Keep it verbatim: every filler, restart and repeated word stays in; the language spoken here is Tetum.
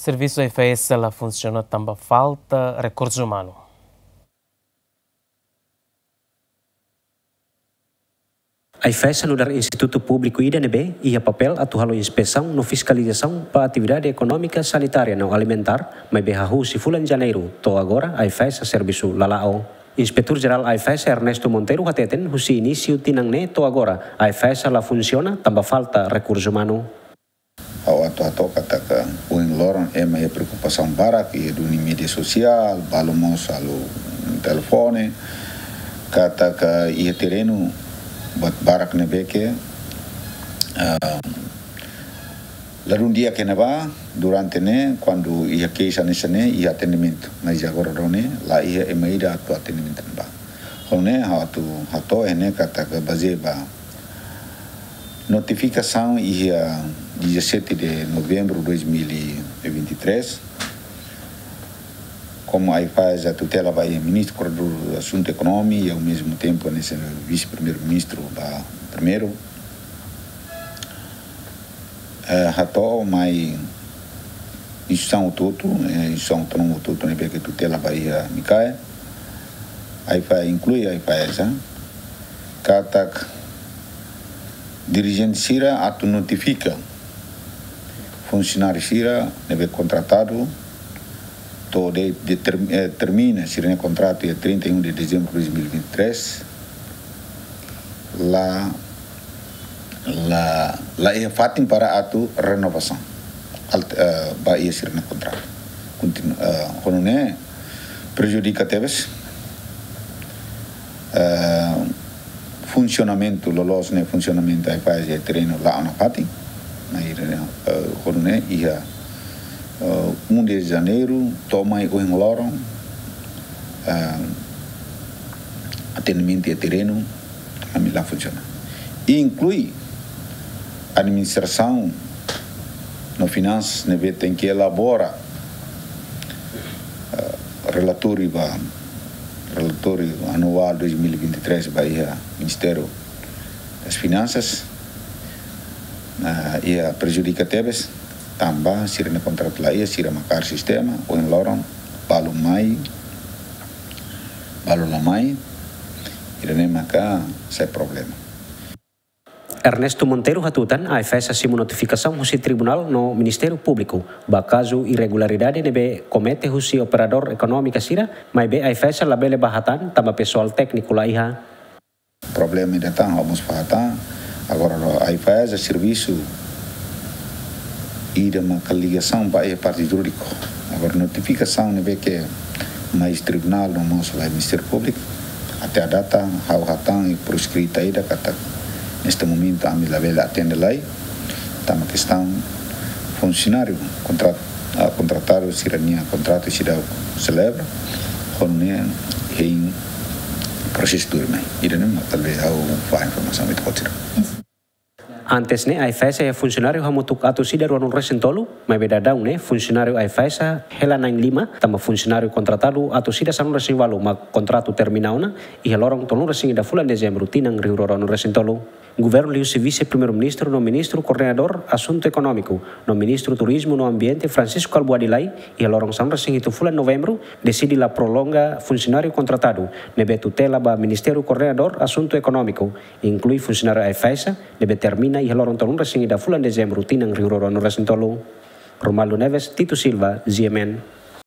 Servisu AIFAESA la funsiona tanba falta rekursu umanu. AIFAESA nu'udar institutu públiku ida ne'ebé iha papél atu halo inspesaun no fiskalizasaun ba atividade ekonómika, sanitária no alimentár, maibé hahú husi fulan Janeiru to'o agora AIFAESA servisu la la'o. Inspetór Jerál AIFAESA Ernesto Monteiro hateten husi inísiu tinan ne'e to'o agora AIFAESA la funsiona tanba falta rekursu umanu. Ha'u atu hato'o katak ohin loron ema iha preokupasaun barak, iha duni média sosiál, balu mós halo telefone, katak iha terrenu buat barak ne'ebé ke, ah, ladún di'ak iha ne'ebá, durante ne'e, kuandu iha keixa hanesan ne'e, iha atendimentu. Mas agora daudaun ne'e, la iha ema ida atu atendimentu ne'ebá. Ho ne'e, ha'u atu hato'o iha ne'e katak bazeia ba notifikasaun iha dezassete de novembro de dois mil e vinte e três, komu AIFAESA tutela ba iha Ministru Koordenadór Asuntu Ekonomia, i ao mesmo tempo, hanesan Vise-Primeiru-Ministru ba primeiru, eh, hato'o mai instituisaun hotu-hotu, eh, instituisaun autónoma hotu-hotu ne'ebé ke tutela ba iha MICAE, AIFAESA, inklui AIFAESA, katak dirijente sira atu notifika funsionáriu sira ne'ebé kontratadu to'o de, de term-, eh, termina sira-nia kontratu iha trinta e um de dezembro de dois mil e vinte e três, la, la, la iha fatin para atu renovasaun. Alt-, eh, ba iha sira-nia kontratu. Kontinu-, eh, ho nune'e prejudika tebes, eh, funsionamentu, loloos ne'e funsionamentu AIFAESA iha terrenu la'o nafatin. Maibé, eh, ho nune'e iha, eh, um de Janeiro, to'o mai ohin loron, eh, atendimentu iha terrenu, ami la funsiona. Inklui administrasaun no finansas ne'ebé tenke elabora, eh, relatóriu ba, relatóriu anuál dois mil e vinte e três ba iha Ministériu das Finansas, eh, iha prejudika tebes, tanba sira-nia kontratu la iha, sira mak kaer sistema, ohin loron, balu mai, balu la mai, ida-ne'e maka sai problema. Ernesto Monteiro hatutan, AIFAESA simu notifikasaun husi tribunál no Ministériu Públiku ba kazu irregularidade ne'ebé komete husi operadór ekonómika sira, maibé AIFAESA labele bá hatán tanba pesoál tékniku la iha. Problema ida tan, ha'u mós fó hatán, agora AIFAESA servisu ida maka ligasaun ba iha parte jurídiku. Agora notifikasaun ne'ebé ke mai tribunál no mós ba Ministériu Públiku, até à data ha'u hatán iha por escrita ida katak neste momento ami labele atende lai, tanba kestaun funsionáriu kontra-, ah, kontratadu sira-nia kontratu seidauk selebra, ho nune'e hein prosesu tuirmai. Ida-ne'e mak talvés ha'u fó informasaun ida kotir. Antes ne'e, AIFAESA iha funsionáriu hamutuk atus ida ruanulu-resin-tolu, maibé daudaun ne'e funsionáriu AIFAESA hela na'in-lima, tanba funsionáriu kontratadu atus ida sanulu-resin-ualu mak kontratu termina ona iha loron tolunulu-resin-ida fulan Dezembru tinan rihun rua ruanulu-resin-tolu. Governu liuhusi Vise-Primeiru-Ministru no Ministru Koordenadór Asuntu Ekonómiku no Ministru Turizmu no Ambiente Francisco Albuady Lay, iha loron sanulu-resin-hitu fulan Novembru, deside la prolonga funsionáriu kontratadu ne'ebé tutela ba Ministériu Koordenadór Asuntu Ekonómiku, inklui funsionáriu AIFAESA, ne'ebé termina iha loron tolunulu-resin-ida fulan Dezembru tinan rihun rua ruanulu-resin-tolu. Romualdo Neves, Tito Silva, G M N.